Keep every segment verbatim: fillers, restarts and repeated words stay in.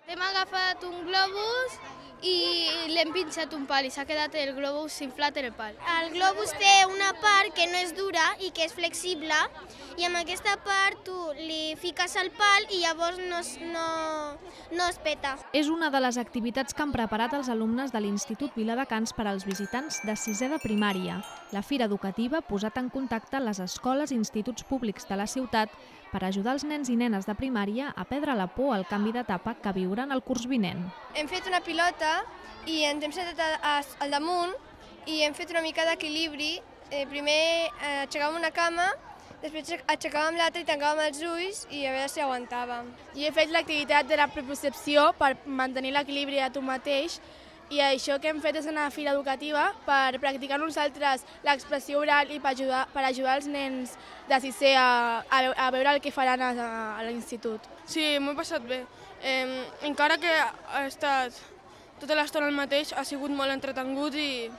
Hem agafat un globus i l'hem pinxat un pal i s'ha quedat el globus inflat en el pal. El globus té una part que no és dura i que és flexible i amb aquesta part tu li fiques al pal i llavors no, es- no, no es peta. És una de les activitats que han preparat els alumnes de l'Institut Viladecans per als visitants de sisè de primària. La fira educativa ha posat en contacte les escoles i instituts públics de la ciutat per ajudar els nens i nenes de primària a perdre la por al canvi d'etapa que viuran el curs vinent. Hem fet una pilota i ens hem sentat a- a- al damunt i hem fet una mica d'equilibri. Eh, primer eh, aixecàvem una cama, després aixecàvem l'altra i tancàvem els ulls i a veure si aguantàvem. Jo he fet l'activitat de la prepercepció per mantenir l'equilibri a tu mateix i això que hem fet és una fira educativa per practicar nosaltres l'expressió oral i per ajudar, per ajudar els nens de sisè a, a, veu- a veure el que faran a, a l'institut. Sí, m'ho he passat bé. Eh, encara que ha estat tota l'estona el mateix, ha sigut molt entretengut i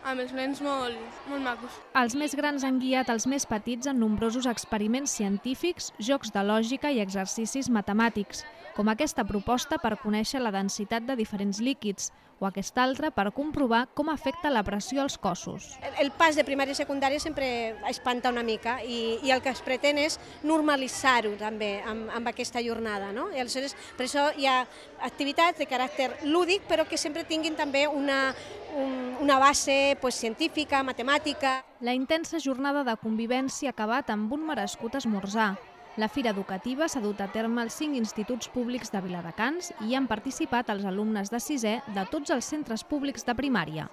amb els nens molt, molt macos. Els més grans han guiat els més petits en nombrosos experiments científics, jocs de lògica i exercicis matemàtics, com aquesta proposta per conèixer la densitat de diferents líquids o aquesta altra per comprovar com afecta la pressió als cossos. El pas de primària i secundària sempre espanta una mica i, i el que es pretén és normalitzar-ho també amb, amb aquesta jornada. No? I aleshores, per això hi ha activitats de caràcter lúdic però que sempre tinguin també una, un, una base pues, científica, matemàtica. La intensa jornada de convivència ha acabat amb un merescut esmorzar. La fira educativa s'ha dut a terme als cinc instituts públics de Viladecans i hi han participat els alumnes de sisè de tots els centres públics de primària.